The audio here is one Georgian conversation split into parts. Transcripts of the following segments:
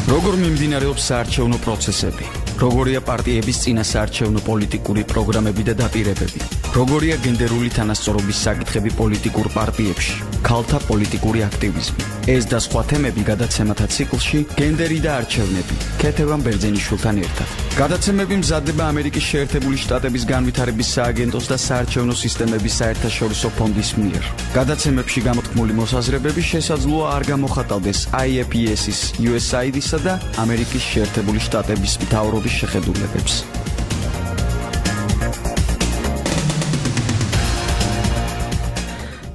როგორ მიმდინარეობს საარჩევნო პროცესები, როგორია პარტიების წინა საარჩევნო პოლიტიკური პროგრამები და დაპირებები, როგორია გენდერული თანასწორობის საკითხები პოლიტიკურ პარტიებში, ქალთა პოლიტიკური აქტივიზმი. ეს და სხვა თემები გადაცემათა ციკლში გენდერი და არჩევნები ქეთევან ბერძენიშვილთან ერთად. გადაცემები მზადდება ამერიკის შეერთებული შტატების განვითარების სააგენტოს და საარჩევნო სისტემების საერთაშორისო ფონდის მიერ. გადაცემებში გამოთქმული მოსაზრებები შესაძლოა არ გამოხატავდეს IAPS-ის, USAID-ისა და ამერიკის შეერთებული შტატების მთავრობის შეხედულებებს.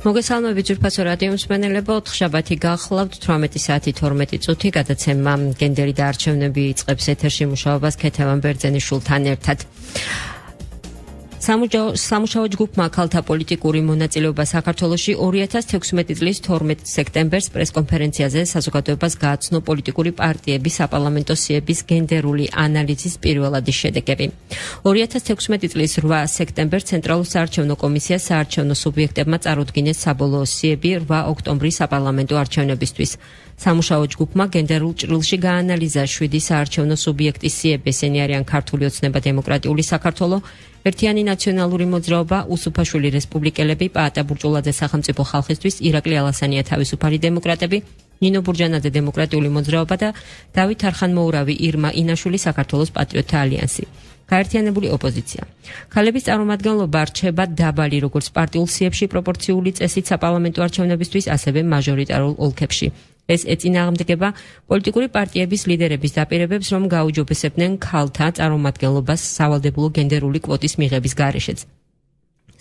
მოგესალმებით ძვირფასო რადიო მსმენელებო, ოთხშაბათი გახლავთ 18 საათი 12 წუთი გადაცემა გენდერი და არჩევნები იწყებს ეთერში მუშაობას ქეთევან ბერძენიშვილთან ერთად. სამუშაო ჯგუფმა ქალთა პოლიტიკური მონაწილეობა საქართველოში 2016 წლის 12 სექტემბერს პრესკონფერენციაზე საზოგადოებას გააცნო პოლიტიკური პარტიების საპარლამენტო სიების გენდერული ანალიზის პირველადი შედეგები. 2016 წლის 8 სექტემბერს ცენტრალურ საარჩევნო კომისიას საარჩევნო სუბიექტებმა წარუდგინეს საბოლოო სიები 8 ოქტომბრის საპარლამენტო არჩევნებისთვის. სამუშაო ჯგუფმა გენდერულ ჭრილში გაანალიზა 7 საარჩევნო სუბიექტის სიები, ესენი არიან ქართული ოცნება დემოკრატიული საქართველო, ერთიანი ნაციონალური მოძრაობა, უსუფაშვილი რესპუბლიკელები, პაატა ბურჭულაძე სახელმწიფო ხალხისთვის, ირაკლი ალასანია თავისუფალი დემოკრატები, ნინო ბურჯანაძე დემოკრატიული მოძრაობა და დავით არხანმოურავი ირმა ინაშვილი საქართველოს პატრიოტთა ალიანსი. გაერთიანებული ოპოზიცია. ქალების წარმომადგენლობა რჩება დაბალი როგორც პარტიულ სიებში პროპორციული წესით საპარლამენტო არჩევნებისთვის, ასევე მაჟორიტარულ ოლქებში. ეს ეწინააღმდეგება პოლიტიკური პარტიების ლიდერების დაპირებებს, რომ გაუჯობესებდნენ ქალთა წარმომადგენლობას სავალდებულო გენდერული კვოტის მიღების გარეშეც.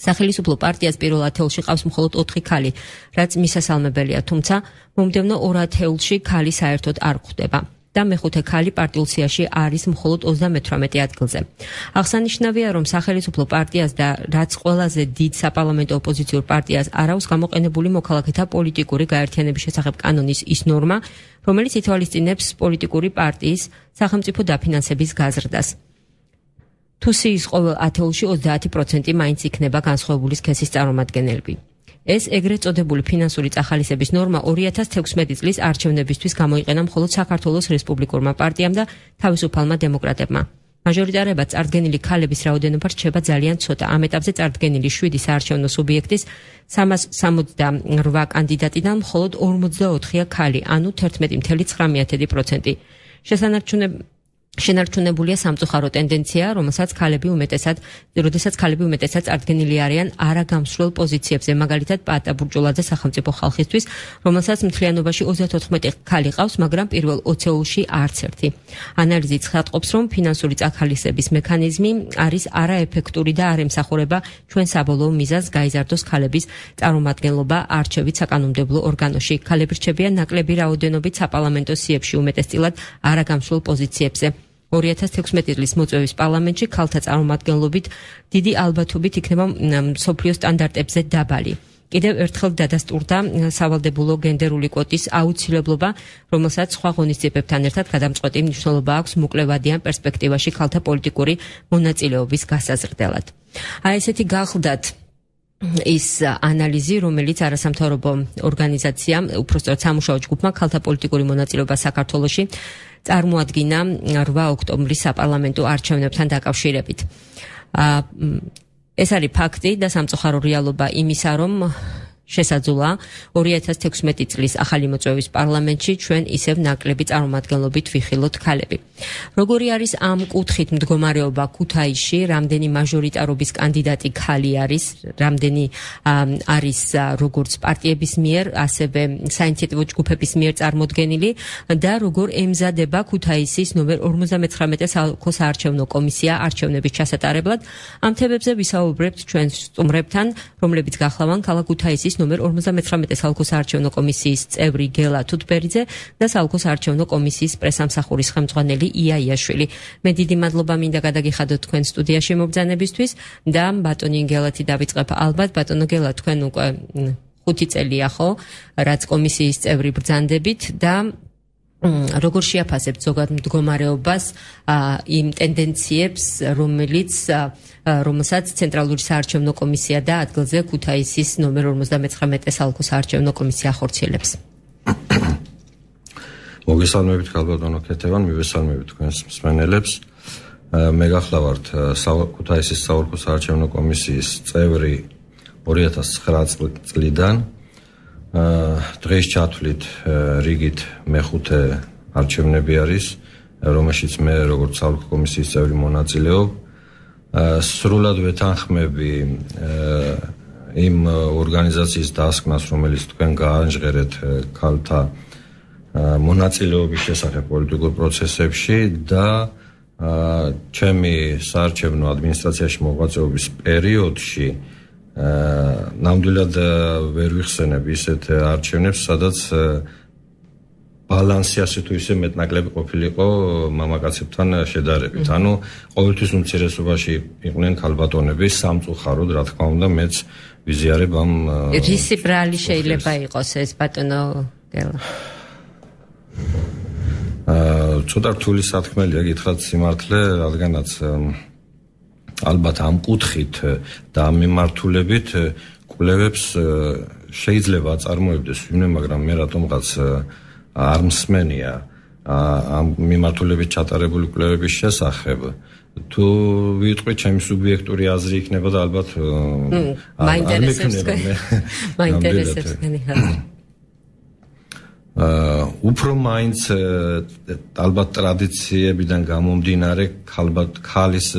სახელმწიფო პარტიას პირველ ათეულში ყავს მხოლოდ 4 ქალი, რაც მისასალმებელია, თუმცა მომდევნო 2 ათეულში ქალი საერთოდ არ გვხვდება. და მეხუთე ქალი პარტიულ სიაში არის მხოლოდ 38 ადგილზე. აღსანიშნავია, რომ სახელმწიფო პარტიას და რაც ყველაზე დიდ საპარლამენტო ოპოზიციურ პარტიას არ აქვს გამოყენებული მოქალაქეთა პოლიტიკური გაერთიანების შესახებ კანონის ის ნორმა, რომელიც ითვალისწინებს პოლიტიკური პარტიის სახელმწიფო დაფინანსების გაზრდას. თუ სიის ყოველ ათეულში 30% მაინც იქნება განსხვავებული სქესის წარმომადგენლები. ეს ეგრეთ წოდებული ფინანსური წახალისების ნორმა 2016 წლის არჩევნებისთვის გამოიყენა მხოლოდ საქართველოს რესპუბლიკურმა პარტიამ და თავისუფალმა დემოკრატებმა. მაჟორიტარებად წარდგენილი ქალების რაოდენობა რჩება ძალიან ცოტა. ამ ეტაპზე წარდგენილი 7 საარჩევნო სუბიექტის 368 კანდიდატიდან მხოლოდ 44-ია ქალი, ანუ 11.9%. შენარჩუნებულია სამწუხარო ტენდენცია, როდესაც ქალები უმეტესად წარდგენილი არიან არაგამსვლელ პოზიციებზე, მაგალითად პაატა ბურჭულაძე სახელმწიფო ხალხისთვის, რომელსაც მთლიანობაში 34 ქალი ყავს, მაგრამ პირველ 20-ში არც ერთი. ანალიზი ცხადყოფს, რომ ფინანსური წახალისების მექანიზმი არის არაეფექტური და არ ემსახურება ჩვენ საბოლოო მიზანს გაიზარდოს ქალების წარმომადგენლობა არჩევით საკანონმდებლო ორგანოში. ქალები რჩებიან ნაკლები რაოდენობით საპარლამენტო სიებში, უმეტესწილად არაგამსვლელ პოზიციებზე. 2016 წლის მოწვევის პარლამენტში ქალთა წარმომადგენლობით დიდი ალბათობით იქნება მსოფლიო სტანდარტებზე დაბალი. კიდევ ერთხელ დადასტურდა სავალდებულო გენდერული კვოტის აუცილებლობა, რომელსაც სხვა ღონისძიებებთან ერთად გადამწყვეტი მნიშვნელობა აქვს მოკლევადიან პერსპექტივაში ქალთა პოლიტიკური მონაწილეობის გასაზრდელად. ესეთი გახლდათ ის ანალიზი, რომელიც არასამთავრობო ორგანიზაციამ, უпростоრად სამუშაო ჯგუფმა ქალთა პოლიტიკური მონაწილეობა საქართველოში წარმოადგინა 8 ოქტომბრის საპარლამენტო არჩევნებთან დაკავშირებით. ეს არის ფაქტი და სამწუხარო რეალობა იმისა, რომ შესაძლოა 2016 წლის ახალი მოწვევის პარლამენტში ჩვენ ისევ ნაკლები წარმომადგენლობით ვიხილოთ ქალები. როგორი არის ამ კუთხით მდგომარეობა ქუთაისში, რამდენი მაჟორიტარობის კანდიდატი ქალი არის, რამდენი არის როგორც პარტიების მიერ, ასევე საინიციატივო ჯგუფების მიერ წარმოდგენილი და როგორ ემზადება ქუთაისის ნომერ 59 საოლქო საარჩევნო კომისია არჩევნების ჩასატარებლად. ამ თემებზე ვისაუბრებთ ჩვენ სტუმრებთან, რომლებიც გახლავან ქალაქ ქუთაისის ნომერ 59 საოლქო საარჩევნო კომისიის წევრი გელა თუთბერიძე და საოლქო საარჩევნო კომისიის პრესამსახურის ხელმძღვანელი იაიაშვილი. მე დიდი მადლობა მინდა გადაგიხადოთ თქვენ სტუდიაში მობრძანებისთვის და ბატონი გელათი დავიწყებ ალბათ. ბატონო გელა, თქვენ უკვე 5 წელია ხო, რაც კომისიის წევრი ბრძანდებით და როგორ შეაფასებთ ზოგად მდგომარეობას იმ ტენდენციებს, რომელსაც ცენტრალური საარჩევნო კომისია და ადგილზე ქუთაისის ნომერ 59 საოლქო საარჩევნო კომისია ახორციელებს? მოგესალმებით ქალბატონო ქეთევან, მივესალმებით თქვენს მსმენელებს. მე გახლავართ ქუთაისის საოლქო საარჩევნო კომისიის წევრი 2009 წლიდან. დღეს ჩათვლით რიგით მეხუთე არჩევნები არის, რომელშიც მე როგორც საოლქო კომისიის წევრი მონაწილეობ. სრულად ვეთანხმები იმ ორგანიზაციის დასკვნას, რომელიც თქვენ გაანჟღერეთ ქალთა მონაწილეობის შესახებ პოლიტიკურ პროცესებში და ჩემი საარჩევნო ადმინისტრაციაში მოღვაწეობის პერიოდში ნამდვილად ვერ ვიხსენებ ისეთ არჩევნებს, სადაც ბალანსი ასე თუ ისე მეტნაკლები ყოფილიყო მამაკაცებთან შედარებით. ანუ ყოველთვის უმცირესობაში იყვნენ ქალბატონები, სამწუხაროდ, რა თქმა უნდა, მეც ვიზიარებ ამ რისი ბრალი შეიძლება იყოს ეს ბატონო გელა? ცოტა რთული სათქმელია გითხრათ სიმართლე, რადგანაც ალბათ ამ კუთხით და ამ მიმართულებით კვლევებს შეიძლება აწარმოებდეს ვინმე, მაგრამ მე რატომღაც არ მსმენია ამ მიმართულებით ჩატარებული კვლევების შესახებ. თუ ვიტყვი ჩემი სუბიექტური აზრი იქნება და ალბათ მაინტერესებს თქვენი აზრი. უფრო მაინც ალბათ ტრადიციებიდან გამომდინარე ქალის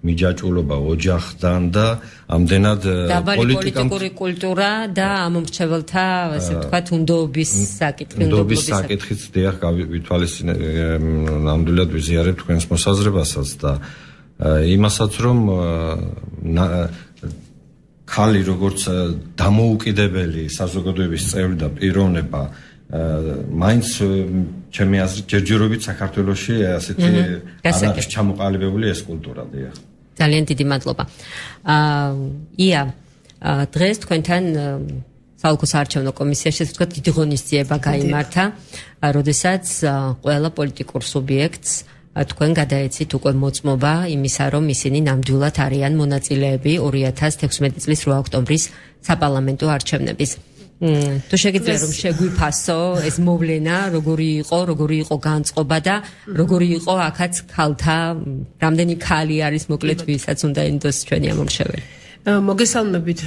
მიჯაჭვულობა ოჯახთან და ამდენად პოლიტიკური კულტურა და ამომრჩეველთა ასე ვთქვათ უნდობის საკითხიც დიახ ნამდვილად ვიზიარებ თქვენს მოსაზრებასაც და იმასაც რომ ქალი როგორც დამოუკიდებელი საზოგადოების წევრი და პიროვნება მაინც ჩემი აზრით ჯერჯერობით საქართველოში ასეთი არ არის ჩამოყალიბებული ეს კულტურა დიახ. ძალიან დიდი მადლობა. ია დღეს თქვენთან საოლქო საარჩევნო კომისიაში ასე ვთქვათ დიდი ღონისძიება გაიმართა, როდესაც ყველა პოლიტიკურ სუბიექტს თქვენ გადაეცით უკვე მოწმობა იმისა, რომ ისინი ნამდვილად არიან მონაწილეები 2016 წლის 8 ოქტომბრის საპარლამენტო არჩევნების. თუ შეგიძლია რომ შეგვიფასო ეს მოვლენა, როგორი იყო განწყობა და როგორი იყო აქაც ქალთა, რამდენი ქალი არის მოკლედ ვისაც უნდა ენდოს ჩვენი ამომრჩეველი. მოგესალმებით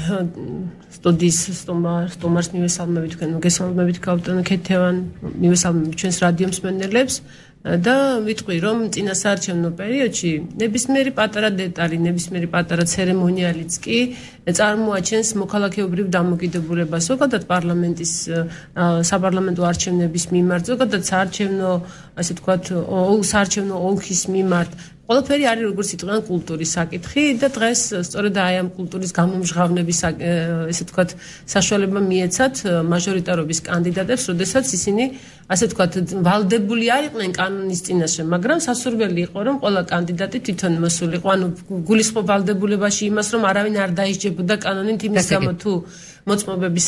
სტუდიის სტუმარს, მივესალმებით თქვენ, მოგესალმებით ქალბატონო ქეთევან, მივესალმებით ჩვენს რადიო მსმენელებს. და ვიტყვი რომ წინა საარჩევნო პერიოდში ნებისმიერი პატარა დეტალი, ნებისმიერი პატარა ცერემონიალიც კი წარმოაჩენს მოქალაქეობრივ დამოკიდებულებას ზოგადად პარლამენტის საპარლამენტო არჩევნების მიმართ, ზოგადად საარჩევნო ასე ვთქვათ საარჩევნო ოლქის მიმართ. ყველაფერი არის როგორც იტყვიან კულტურის საკითხი და დღეს სწორედ აი ამ კულტურის გამომჟღავნების ესე ვთქვათ საშუალება მიეცათ მაჟორიტარობის კანდიდატებს, როდესაც ისინი ასე ვთქვათ ვალდებული არ იყვნენ კანონის წინაშე, მაგრამ სასურველი იყო რომ ყველა კანდიდატი თვითონ მოსულიყო, ანუ გულისხმობ ვალდებულებაში იმას, რომ არავინ არ დაისჯებოდა კანონით იმის გამო თუ მოწმობების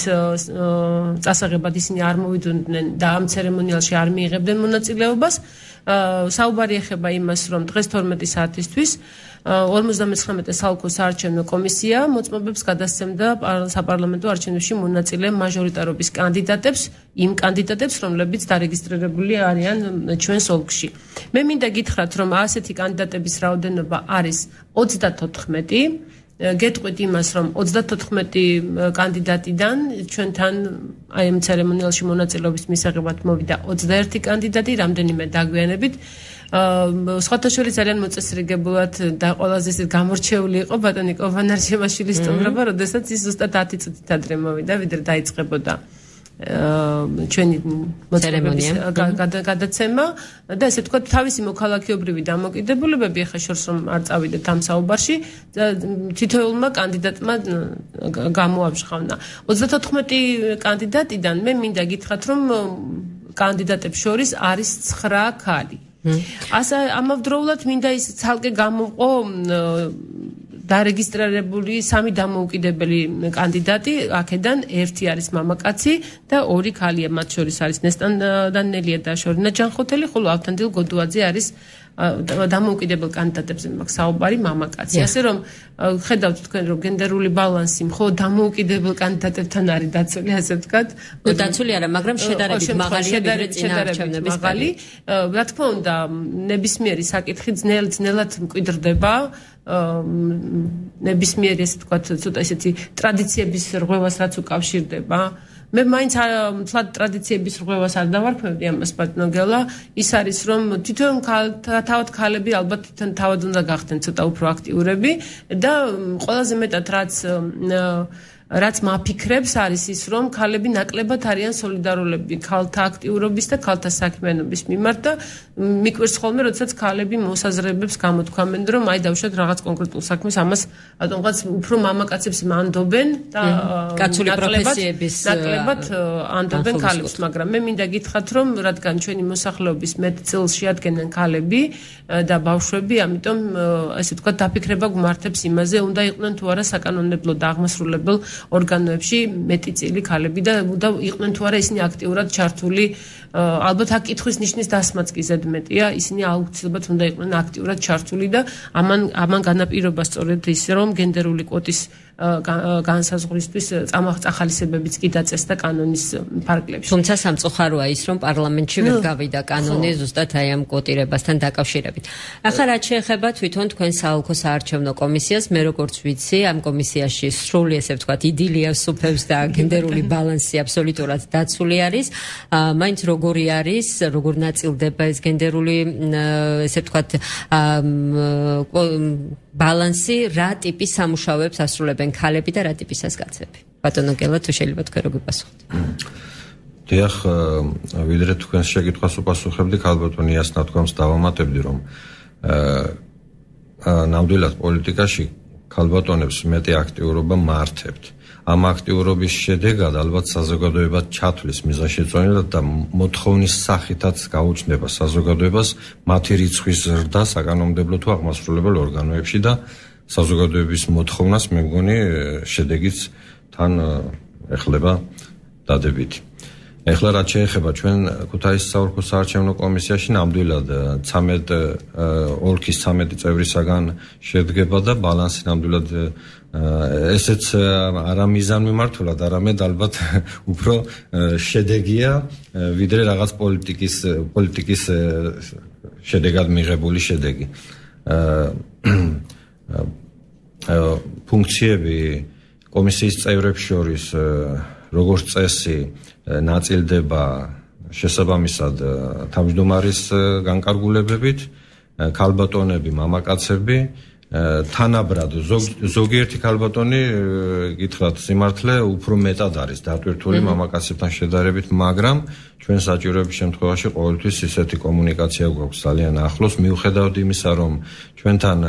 წასაღებად ისინი არ მოვიდოდნენ და ამ ცერემონიალში არ მიიღებდნენ მონაწილეობას. საუბარი ეხება იმას, რომ დღეს 12 საათისთვის 59 საოლქო საარჩევნო კომისია მოწმობებს გადასცემდა საპარლამენტო არჩევნებში მონაწილე მაჟორიტარობის კანდიდატებს, იმ კანდიდატებს, რომლებიც დარეგისტრირებული არიან ჩვენს ოლქში. მე მინდა გითხრათ, რომ ასეთი კანდიდატების რაოდენობა არის 34. გეტყვით იმას, რომ 34 კანდიდატიდან ჩვენთან აი ამ ცერემონიალში მონაწილეობის მისაღებად მოვიდა 21 კანდიდატი, რამდენიმე დაგვიანებით. სხვათა შორის ძალიან მოწესრიგებულად და ყველაზე გამორჩეული იყო ბატონი კოვანარჩევაშვილის სტუმრობა, როდესაც ის ზუსტად 10 წუთით ადრე მოვიდა, ვიდრე დაიწყებოდა ჩვენი მოწესრიგების გადაცემა და ესე ვთქვათ თავისი მოქალაქეობრივი დამოკიდებულებები ახლა შორს რომ არ წავიდეთ ამ საუბარში თითოეულმა კანდიდატმა გამოამჟღავნა 34 კანდიდატიდან მე მინდა გითხრათ რომ კანდიდატებს შორის არის 9 ქალი. ამავდროულად მინდა ის ცალკე გამოყო დარეგისტრირებული 3 დამოუკიდებელი კანდიდატი, აქედან 1 არის მამაკაცი და 2 ქალია, მათ შორის არის ნესტან დანელია და შორინა ჯანხოთელი, ხოლო ავთანდილ გოდუაძე არის დამოუკიდებელ კანდიდატებზე მაქვს საუბარი მამაკაცი. ასე რომ ხედავთ თქვენ რომ გენდერული ბალანსი მხოლოდ დამოუკიდებელ კანდიდატებთან არის დაცული, ასე ვთქვათ. დაცული არა, მაგრამ შედარებით მაღალია ვიდრე წინაარჩევნების პერიოდში. რა თქმა უნდა, ნებისმიერი საკითხი ძნელად მკვიდრდება. ნებისმიერი ესე ვთქვათ, ცოტა ესეთი ტრადიციების რღვევას რაც უკავშირდება. მე მაინც თლად ტრადიციების რღვევას არ დავარქმევდი ამას ბატონოგელა. ის არის რომ თვითონ თავად ქალები ალბათ თავად უნდა გახდნენ ცოტა უფრო აქტიურები და ყველაზე მეტად რაც მაფიქრებს არის ის რომ ქალები ნაკლებად არიან სოლიდარულები ქალთა აქტიურობის და ქალთა საქმიანობის მიმართ და მიკვირს ხოლმე როდესაც ქალები მოსაზრებებს გამოთქვამენ რომ აი დავუშვათ რაღაც კონკრეტულ საქმეს ამას რატომღაც უფრო მამაკაცებს მანდობენ და კაცული პროფესიების ნაკლებად ანდობენ ქალებს, მაგრამ მე მინდა გითხრათ რომ რადგან ჩვენი მოსახლეობის მეტ წილს შეადგენენ ქალები და ბავშვები, ამიტომ ასე ვთქვათ დაფიქრება გვმართებს იმაზე, უნდა იყვნენ თუ არა საკანონმდებლო და აღმასრულებელ ორგანოებში მეტი წილი ქალები და იყვნენ თუ არა ისინი აქტიურად ჩართული, ალბათ აქ კითხვის ნიშნის დასმაც კი ზედმეტია, ისინი აუცილებლად უნდა იყვნენ აქტიურად ჩართული და ამან განაპირობა სწორედ ის რომ გენდერული კვოტის განსაზღვრისთვის წახალისებებიც კი დაწესდა კანონის ფარგლებში. თუმცა სამწუხაროა ის რომ პარლამენტში ვერ გავიდა კანონი ზუსტად აი ამ კვოტირებასთან დაკავშირებით. ახლა რაც შეეხება თვითონ თქვენ საოლქო საარჩევნო კომისიას, მე როგორც ვიცი, ამ კომისიაში სრული ესე ვთქვათ იდილია სუფევს და გენდერული ბალანსი აბსოლუტურად დაცული არის. მაინც როგორი არის, როგორ ნაწილდება ეს გენდერული ესე ვთქვათ ბალანსი, რა ტიპის სამუშაოებს ასრულებენ ქალები და რა ტიპის ასკაცები. ბატონო გელა, თუ შეიძლება თქვენ როგორ გასახოთ. დიახ, ვიდრე თქვენს შეკითხვას უპასუხებდი, ქალბატონი ასნათქვამს დავამატებდი, რომ ნამდვილად პოლიტიკაში ქალბატონებს მეტი აქტიურობა მართებთ. ამ აქტიურობის შედეგად ალბათ საზოგადოება ჩათვლის მიზანშეწონილად და მოთხოვნის სახითაც გაუჩნდება საზოგადოებას მათი რიცხვის ზრდა საკანონმდებლო თუ აღმასრულებელ ორგანოებში და საზოგადოების მოთხოვნას მე მგონი შედეგიც თან ეხლება დადებითი. ეხლა რაც შეეხება ჩვენ ქუთაისის საოლქო საარჩევნო კომისიაში ნამდვილად 13 ოლქის 13 წევრისაგან შედგება და ბალანსი ნამდვილად ესეც არა მიზანმიმართულად, არამედ ალბათ უფრო შედეგია ვიდრე რაღაც პოლიტიკის შედეგად მიღებული შედეგი. ფუნქციები კომისიის წევრებს შორის როგორც წესი ნაწილდება შესაბამისად თავმჯდომარის განკარგულებებით, ქალბატონები, მამაკაცები თანაბრად ზოგიერთი ქალბატონი გითხრათ სიმართლე უფრო მეტად არის დატვირთული მამაკაცებთან შედარებით, მაგრამ ჩვენ საჭიროების შემთხვევაში ყოველთვის ისეთი კომუნიკაცია გვაქვს ძალიან ახლოს, მიუხედავად იმისა, რომ ჩვენთან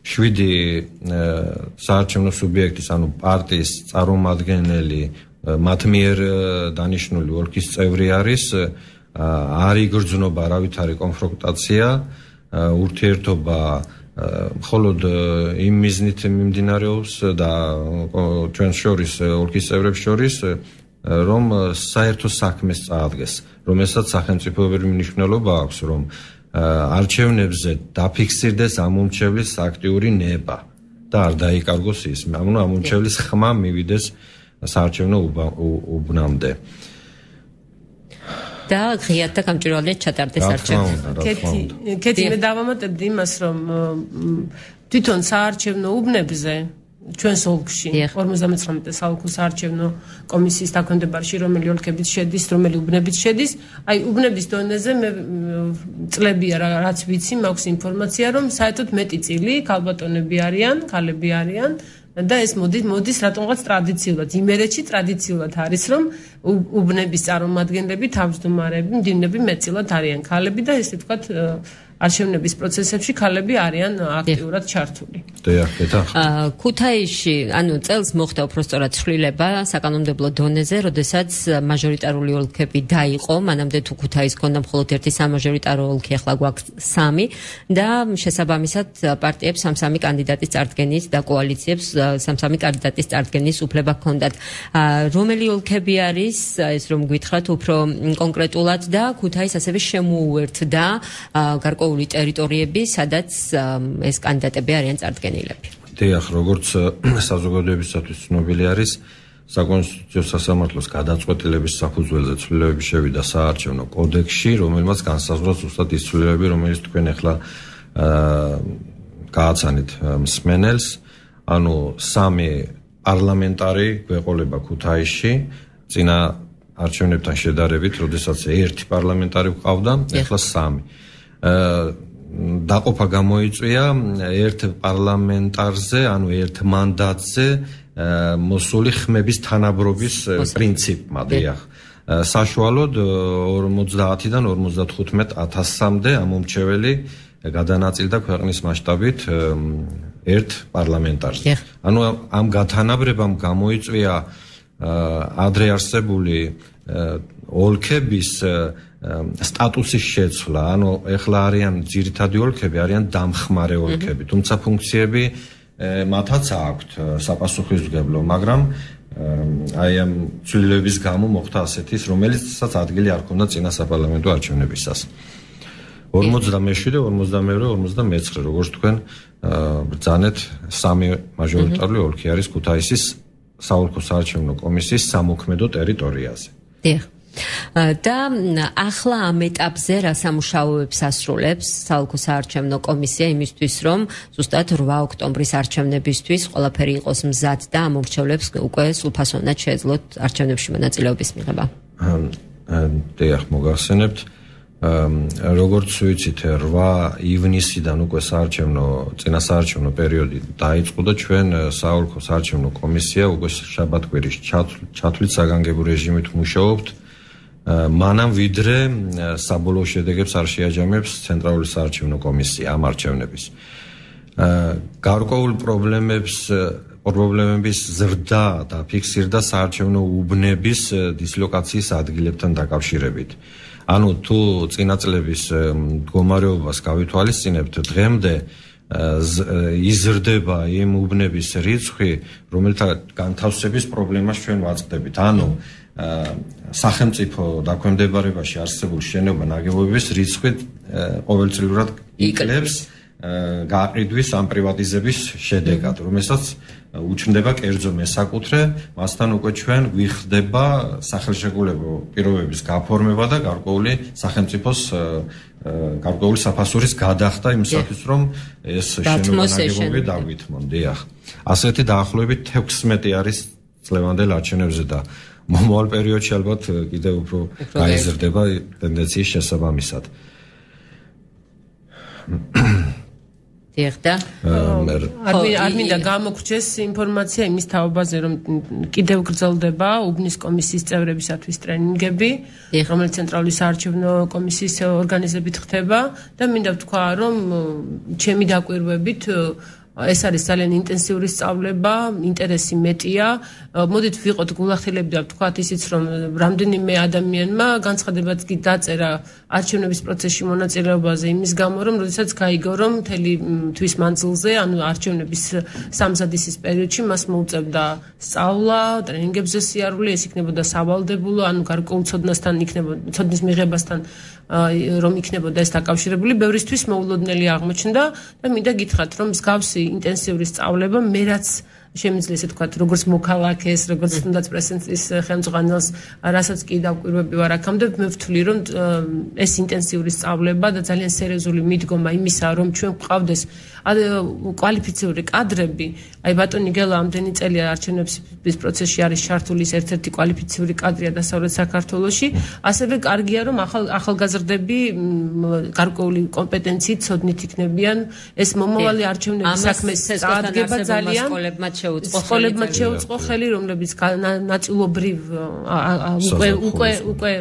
7 საარჩევნო სუბიექტის, ანუ პარტიის წარმომადგენელი მათ მიერ დანიშნული ოლქის წევრი არის, არ იგრძნობა არავითარი კონფრონტაცია, ურთიერთობა მხოლოდ იმ მიზნით მიმდინარეობს და ჩვენ შორის ოლქის წევრებს შორის რომ საერთო საქმეს წაადგეს, რომელსაც სახელმწიფოებრივი მნიშვნელობა აქვს, რომ არჩევნებზე დაფიქსირდეს ამომრჩევლის აქტიური ნება და არ დაიკარგოს ის, ანუ ამომრჩევლის ხმა მივიდეს საარჩევნო უბნამდე. და ღიად და გამჭვირვალედ ჩატარდეს არჩევნები. კეთი, მე დავამატებდი იმას, რომ თვითონ საარჩევნო უბნებზე ჩვენს ოლქში 59 საოლქო საარჩევნო კომისიის დაქვემდებარში რომელი ოლქებიც შედის, რომელი უბნებიც შედის, აი უბნების დონეზე მე წლებია რაც ვიცი, მაქვს ინფორმაცია, რომ საერთოდ მეტი წილი ქალბატონები არიან, ქალები არიან. და ეს მოდის რატომღაც ტრადიციულად, იმერეთში ტრადიციულად არის, რომ უბნების წარმომადგენლები, თავმჯდომარეები, მდივნები მეტწილად არიან ქალები და ესე ვთქვათ არჩევნების პროცესებში ქალები არიან აქტიურად ჩართული. ქუთაისში, ანუ წელს მოხდა უпростоრად ცვლილება საკანონმდებლო დონეზე, როდესაც მაჟორიტარული ოლქები დაიყო, მანამდე თუ ქუთაისს ჰქონდა მხოლოდ ერთი სამაჟორიტარო ოლქი, ახლა გვაქვს 3 და შესაბამისად პარტიებს სამ-სამი კანდიდატის წარდგენის და კოალიციებს სამ-სამი კანდიდატის წარდგენის უფლება ჰქონდათ. რომელი ოლქები არის, ეს რომ გითხრათ უფრო კონკრეტულად და ქუთაისს ასევე შემოუერთდა გარკვეული ტერიტორიები, სადაც ეს კანდიდატები არიან წარდგენილები. დიახ, როგორც საზოგადოებისათვის ცნობილი არის, საკონსტიტუციო სასამართლოს გადაწყვეტილების საფუძველზე ცვლილებები შევიდა საარჩევნო კოდექსში, რომელმაც განსაზღვრა ზუსტად ის ცვლილებები, რომელიც თქვენ ახლა გააცანით მსმენელს, ანუ 3 პარლამენტარი გვეყოლება ქუთაისში, წინა არჩევნებთან შედარებით, როდესაც 1 პარლამენტარი გვყავდა, ახლა 3. დაყოფა გამოიწვია 1 პარლამენტარზე, ანუ 1 მანდატზე მოსული ხმების თანაბრობის პრინციპმა, დიახ. საშუალოდ 50-დან 55,000-მდე ამომრჩეველი გადანაწილდა ქვეყნის მასშტაბით 1 პარლამენტარზე. ანუ ამ გათანაბრებამ გამოიწვია ადრე არსებული ოლქების სტატუსის შეცვლა, ანუ ეხლა არიან ძირითადი ოლქები, არიან დამხმარე ოლქები, თუმცა ფუნქციები მათაც აქვთ საპასუხისმგებლო, მაგრამ აი ამ ცვლილებების გამო მოხდა ასეთის, რომელიცაც ადგილი არ ჰქონდა წინა საპარლამენტო არჩევნებისას. 57, 52, 59, როგორც თქვენ ბრძანეთ, 3 მაჟორიტარული ოლქი არის ქუთაისის საოლქო საარჩევნო კომისიის სამოქმედო ტერიტორიაზე. დიახ. და ახლა ამ ეტაპზე რა სამუშაოებს ასრულებს საოლქო საარჩევნო კომისია იმისთვის, რომ ზუსტად 8 ოქტომბრის არჩევნებისთვის ყველაფერი იყოს მზად და ამომრჩევლებს უკვე სრულფასოვნად შეეძლოთ არჩევნებში მონაწილეობის მიღება. დიახ, მოგახსენებთ, როგორც ვიცით, 8 ივნისიდან უკვე წინა საარჩევნო პერიოდი დაიწყო და ჩვენ საოლქო საარჩევნო კომისია უკვე შაბათ-კვირის ჩათვლით საგანგებო რეჟიმით მუშაობთ, მანამ ვიდრე საბოლოო შედეგებს არ შეაჯამებს ცენტრალური საარჩევნო კომისია ამ არჩევნების. გარკვეულ პრობლემების ზრდა და ფიქსირდა საარჩევნო უბნების დისლოკაციის ადგილებთან დაკავშირებით. ანუ თუ წინა წლების მდგომარეობას გავითვალისწინებთ, დღემდე იზრდება იმ უბნების რიცხვი, რომელთა განთავსების პრობლემას ჩვენ ვაწყდებით. ანუ სახელმწიფო დაქვემდებარებაში არსებული შენობა ნაგებობების რიცხვი ყოველწლიურად იკლებს გააყიდვის ამ პრივატიზების შედეგად, რომელსაც უჩნდება კერძო მესაკუთრე, მასთან უკვე ჩვენ გვიხდება სახელშეკრულებო პირობების გაფორმება და გარკვეული სახელმწიფოს გარკვეული საფასურის გადახდა იმისათვის, რომ ეს შენობა ნაგებობები დავითმონ. დიახ. ასეთი დაახლოებით 16 არის წლევანდელ არჩევნებზე და მომავალ პერიოდში ალბათ კიდევ უფრო გაიზრდება ტენდენციის შესაბამისად. დიახდა. არ მინდა გამოგრჩეს ინფორმაცია იმის თაობაზე, რომ კიდევ გრძელდება უბნის კომისიის წევრებისათვის ტრენინგები, რომელიც ცენტრალური საარჩევნო კომისიის ორგანიზებით ხდება და მინდა ვთქვა, რომ ჩემი დაკვირვებით ეს არის ძალიან ინტენსიური სწავლება, ინტერესი მეტია. მოდით ვიყოთ გულახდილები და ვთქვათ ისიც, რომ რამდენიმე ადამიანმა განცხადებაც კი დაწერა არჩევნების პროცესში მონაწილეობაზე იმის გამო, რომ როდესაც გაიგო, რომ მთელი თვის მანძილზე, ანუ არჩევნების სამზადისის პერიოდში მას მოუწევდა სწავლა, ტრენინგებზე სიარული, ეს იქნებოდა სავალდებულო, ანუ გარკვეულ ცოდნასთან ცოდნის მიღებასთან რომ იქნებოდა ეს დაკავშირებული, ბევრისთვის მოულოდნელი აღმოჩნდა და მინდა გითხრათ, რომ მსგავსი ინტენსიური სწავლება მე რაც შემიძლია ესე თქვათ, როგორც მოქალაქეს, როგორც თუნდაც პრესის ხელმძღვანელს, რასაც კი დავკვირვები ვარ აქამდე, მე ვთვლი, რომ ეს ინტენსიური სწავლება და ძალიან სერიოზული მიდგომა იმისა, რომ ჩვენ გვყავდეს კვალიფიციური კადრები, აი ბატონი გელა ამდენი წელია არჩევნების პროცესში არის ჩართული ერთ-ერთი კვალიფიციური კადრია დასავლეთ საქართველოში, ასევე კარგია რომ ახალგაზრდები გარკვეული კომპეტენციით, ცოდნით იქნებიან, ეს მომავალი არჩევნების საქმეს წარადგება ძალიან შეუწყო ხელი, რომლებიც ნაწილობრივ უკვე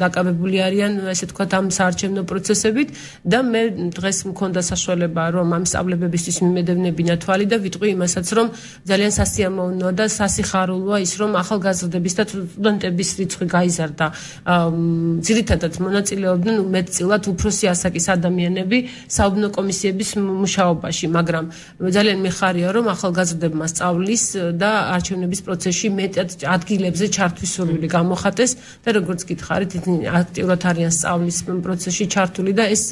დაკავებული არიან, ესე ვთქვათ, ამ საარჩევნო პროცესებით და მე დღეს მქონდა საშუალება, რომ ამ სწავლებებისთვის მიმედევნებინა თვალი და ვიტყვი იმასაც, რომ ძალიან სასიამოვნოა და სასიხარულოა ის, რომ ახალგაზრდების და სტუდენტების რიცხვი გაიზარდა. ძირითადად მონაწილეობდნენ მეტწილად უფროსი ასაკის ადამიანები საუბნო კომისიების მუშაობაში, მაგრამ ძალიან მიხარია, რომ ახალგაზრდებმა სწავლის და არჩევნების პროცესში მეტად ადგილებზე ჩართვის სურვილი გამოხატეს და როგორც გითხარით, აქტიურად არიან სწავლის პროცესში ჩართული და ეს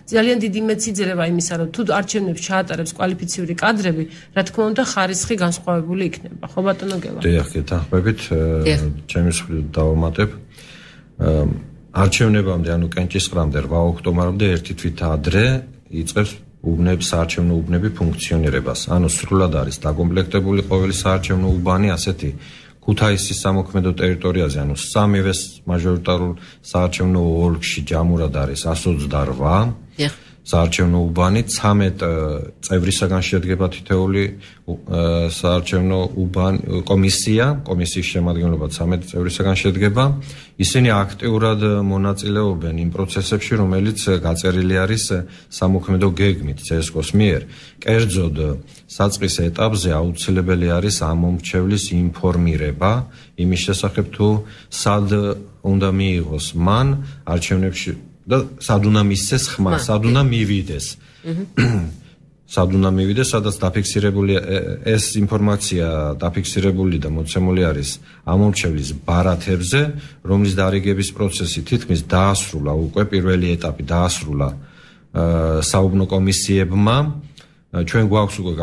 ძალიან დიდი მეციძლება იმისა, რომ თუ არჩევნებს ჩაატარებს კვალიფიციური კადრები, რა თქმა უნდა, ხარისხი განსხვავებული იქნება. ხო ბატონო გელა. დიახ, გეთანხმებით, ჩემი მსხვილი დავამატებ. არჩევნებამდე, ანუ კენჭისყრამდე 8 ოქტომბრამდე ერთი თვით ადრე იწყებს საარჩევნო უბნები ფუნქციონირებას. ანუ სრულად არის დაკომპლექტებული ყოველი საარჩევნო უბანი ასეთი ქუთაისის სამოქმედო ტერიტორიაზე, ანუ სამივე მაჟორიტარულ საარჩევნო ოლქში ჯამურად არის 128 საარჩევნო უბანი, 13 წევრისაგან შედგება თითოეული საარჩევნო კომისიის შემადგენლობა 13 წევრისაგან შედგება. ისინი აქტიურად მონაწილეობენ იმ პროცესებში, რომელიც გაწერილი არის სამოქმედო გეგმით CSKO-ს მიერ. კერძოდ, საწყის ეტაპზე აუცილებელი არის ამომრჩევლის ინფორმირება იმის შესახებ, თუ სად უნდა მიიღოს მან არჩევნებში და სად უნდა მისცეს ხმა, სად უნდა მივიდეს. სად უნდა მივიდეს, სადაც დაფიქსირებული ეს ინფორმაცია დაფიქსირებული და მოცემული არის ამომრჩევლის ბარათებზე, რომლის დარიგების პროცესი თითქმის დაასრულა, უკვე პირველი ეტაპი დაასრულა საუბნო კომისიებმა. ჩვენ გვაქვს უკვე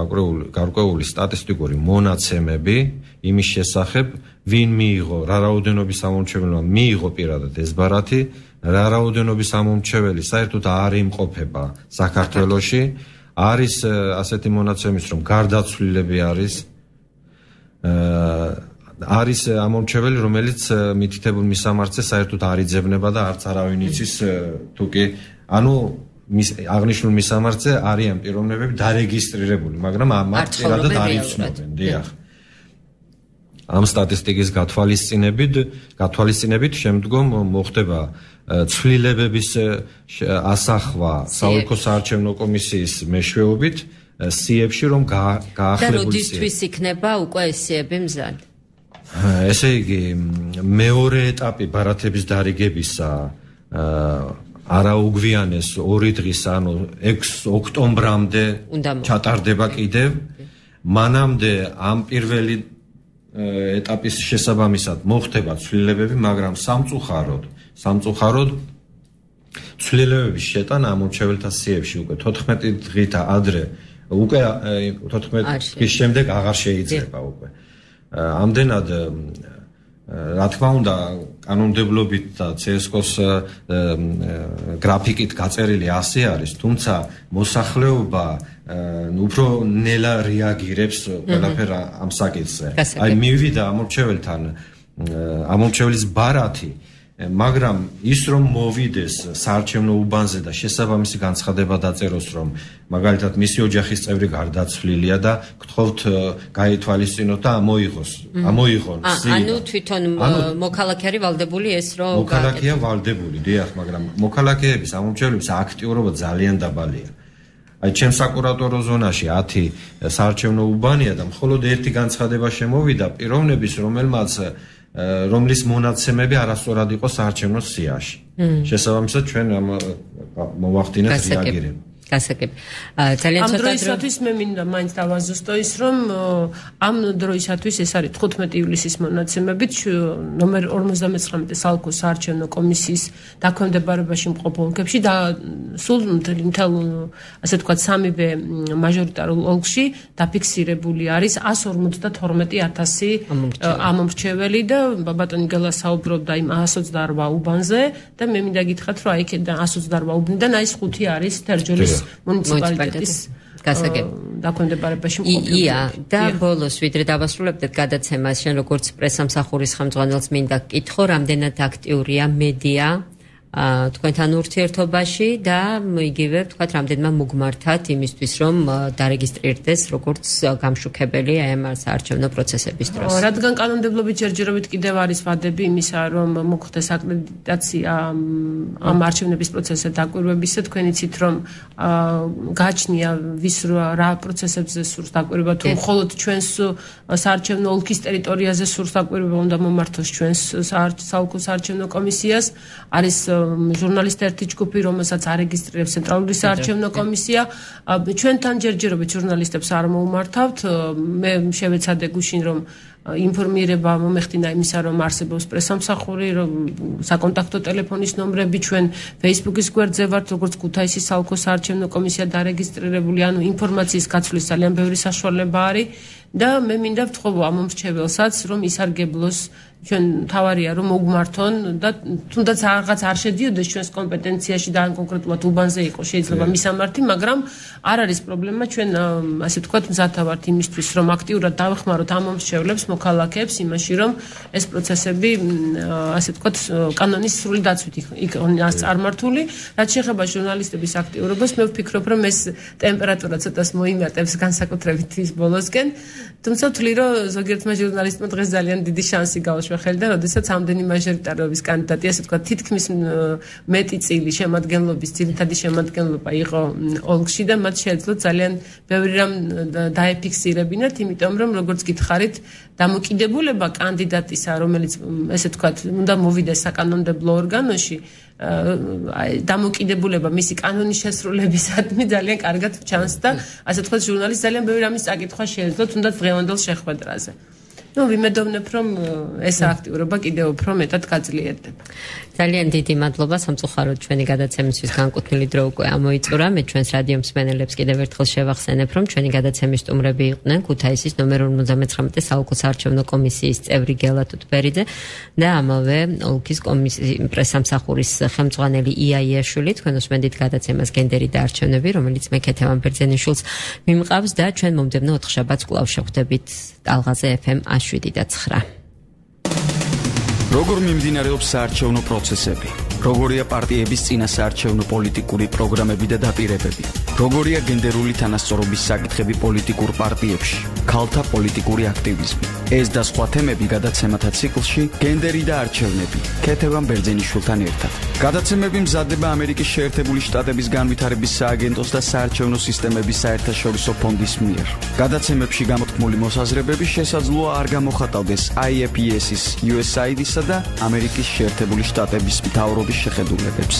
გარკვეული სტატისტიკური მონაცემები იმის შესახებ, ვინ მიიღო, რა რაოდენობის ამომრჩეველმა მიიღო პირადად ეს ბარათი, რა რაოდენობის ამომრჩეველი საერთოდ არ იმყოფება საქართველოში. არის ასეთი მონაცემის, რომ გარდაცვლილები არის ამომრჩეველი, რომელიც მითითებულ მისამართზე საერთოდ არ იძებნება და არც არავინ იცის, თუკი ანუ აღნიშნულ მისამართზე არიან პიროვნებები დარეგისტრირებული, მაგრამ მათ პირადად არ იცნობენ. დიახ. ამ სტატისტიკის გათვალისწინებით შემდგომ მოხდება ცვლილებების ასახვა საოლქო საარჩევნო კომისიის მეშვეობით სიებში, რომ გაახლებული და როდისთვის იქნება უკვე ეს სიები მზად? ესე იგი, მეორე ეტაპი ბარათების დარიგებისა არაუგვიანეს 2 დღის, ანუ 6 ოქტომბრამდე ჩატარდება კიდევ. მანამდე ამ პირველი ეტაპის შესაბამისად მოხდება ცვლილებები, მაგრამ სამწუხაროდ ცვლილებების შეტანა ამომრჩეველთა სიებში უკვე 14 დღით ადრე, უკვე 14 დღის შემდეგ აღარ შეიძლება უკვე. ამდენად რა თქმა უნდა, კანონმდებლობით და CSKO-ს გრაფიკით გაწერილი ასე არის, თუმცა მოსახლეობა უფრო ნელა რეაგირებს ყველაფერ ამ საკითხზე. აი მივიდა ამომრჩეველის ბარათი, მაგრამ ის რომ მოვიდეს საარჩევნო უბანზე და შესაბამისი განცხადება დაწეროს, რომ მაგალითად მისი ოჯახის წევრი გარდაცვლილია და გთხოვთ გაითვალისწინოთ და ამოიღონ. ანუ თვითონ მოქალაქე არის ვალდებული ეს რომ მოქალაქეა ვალდებული, დიახ, მაგრამ მოქალაქეების ამომრჩევლების აქტიურობა ძალიან დაბალია. აი ჩემ საკურატორო ზონაში 10 საარჩევნო უბანია და მხოლოდ ერთი განცხადება შემოვიდა პიროვნების, რომლის მონაცემები არასწორად იყო საარჩევნო სიაში. შესაბამისად ჩვენ მოვახდინეთ რეაგირება. გასაგები. ძალიან ამ ცოტა დროისათვის მე მინდა მაინც დავაზუსტო ის, რომ ამ დროისათვის ეს არის 15 ივლისის მონაცემებით ნომერ 59 საოლქო საარჩევნო კომისიის დაქვემდებარებაში მყოფ ოლქებში და სულ მთელ ასე ვთქვათ სამივე მაჟორიტარულ ოლქში დაფიქსირებული არის 152,000 ამომრჩეველი და ბატონი გელა საუბრობდა იმ 128 უბანზე და მე მინდა გითხრათ, რომ აი იქიდან 128 უბნიდან აი 5 არის თერჯოლის მუნიციპალიტეტის დაქვემდებარებაში მყოფი. და ბოლოს ვიდრე დავასრულებდეთ გადაცემას, შენ როგორც პრესამსახურის ხელმძღვანელს მინდა გკითხო, რამდენად აქტიურია მედია თქვენთან ურთიერთობაში და იგივე თქვათ რამდენმა მოგმართათ იმისთვის რომ დარეგისტრირდეს როგორც გამშუქებელი აი ამ საარჩევნო პროცესების დროს. რადგან კანონმდებლობით ჯერჯერობით კიდევ არის ვადები იმისა რომ მოხდეს აკრედიტაცია ამ არჩევნების პროცესზე დაკვირვებისა თქვენ იცით რომ გააჩნია ვის რა პროცესებზე სურს დაკვირვება თუ მხოლოდ ჩვენს საარჩევნო ოლქის ტერიტორიაზე სურს დაკვირვება უნდა მომართოს ჩვენს საოლქო საარჩევნო კომისიას არის ჟურნალისტთა ერთი ჯგუფი რომელსაც არეგისტრირებს ცენტრალური საარჩევნო კომისია ჩვენთან ჯერჯერობით ჟურნალისტებს არ მოუმართავთ მე შევეცადე გუშინ რომ ინფორმირება მომეხდინა იმისა რომ არსებობს პრესამსახური რომ საკონტაქტო ტელეფონის ნომრები ჩვენ Facebook-ის გვერდზე ვართ როგორც ქუთაისის საოლქო საარჩევნო კომისია დარეგისტრირებული ანუ ინფორმაციის გაცვლის ძალიან ბევრი საშუალება არის და მე მინდა ვთხოვო ამ მომრჩეველსაც რომ ისარგებლოს ჩვენ თავარია რომ მოგმართონ და თუნდაც რაღაც არ შედიოდეს ჩვენს კომპეტენციაში და კონკრეტულად უბანზე იყოს შეიძლება მისამართი მაგრამ არ არის პრობლემა ჩვენ ასე ვთქვათ მზათა ვართ იმისთვის რომ აქტიურად დავეხმაროთ ამ მომრჩევლებს მოქალაქეებს იმაში რომ ეს პროცესები ასე ვთქვათ კანონის სრული დაცვით იქონას წარმართული რაც შეეხება ჟურნალისტების აქტიურობას მე ვფიქრობ რომ ეს ტემპერატურა ცოტას მოიმატებს განსაკუთრებით ის ბოლოსკენ თუმცა ვთვლი რომ ზოგიერთმა ჟურნალისტმა დღეს ძალიან დიდი შანსი გაუშვა ხელი და როდესაც ამდენი მაჟორიტარობის კანდიდატი ასე ვთქვათ თითქმის მეტი წილი შემადგენლობის ძირითადი შემადგენლობა იყო ოლქში და მათ შეეძლოთ ძალიან ბევრი რამ დაეფიქსირებინათ იმიტომ რომ როგორც გითხარით დამოკიდებულება კანდიდატისა რომელიც ესე ვთქვათ უნდა მოვიდეს საკანონმდებლო ორგანოში დამოკიდებულება მისი კანონის შესრულებისადმი ძალიან კარგად ჩანს და ასე ვთქვათ ჟურნალისტს ძალიან ბევრი რამის წაკითხვა შეეძლო თუნდაც დღევანდელ შეხვედრაზე ну ვიმედოვნებ რომ ეს აქტიურობა კიდევ უფრო მეტად გაძლიერდება. ძალიან დიდი მადლობა სამწუხაროდ ჩვენი გადაცემისთვის განკუთვნილი დრო უკვე ამოიწურა. მე ჩვენს რადიო მსმენელებს კიდევ ერთხელ შევახსენებ რომ ჩვენი გადაცემის სტუმრები იყვნენ ქუთაისის ნომერ 59 საოლქო საარჩევნო კომისიის წევრი გელა თუთბერიძე და ამავე ოლქის კომისიის პრესამსახურის ხელმძღვანელი იაიაშვილი. თქვენ უსმენთ გადაცემას გენდერი და არჩევნები, რომელიც მე ქეთევან ბერძენიშვილს მიმყავს და ჩვენ მომდევნო ოთხშაბათს კვლავ შევხვდებით ტალღაზე FM 7.9. როგორ მიმდინარეობს საარჩევნო პროცესები? როგორია პარტიების წინა საარჩევნო პოლიტიკური პროგრამები და დაპირებები? როგორია გენდერული თანასწორობის საკითხები პოლიტიკურ პარტიებში? ქალთა პოლიტიკური აქტივიზმი. ეს და სხვა თემები გადაცემათა ციკლში გენდერი და არჩევნები. ქეთევან ბერძენიშვილთან ერთად. გადაცემები მზადდება ამერიკის შეერთებული შტატების განვითარების სააგენტოს და საარჩევნო სისტემების საერთაშორისო ფონდის მიერ. გადაცემებში გამოთქმული მოსაზრებები შესაძლოა არ გამოხატავდეს IFES-ის, USAID-ისა და ამერიკის შეერთებული შტატების მთავრობის შეხედულებებს.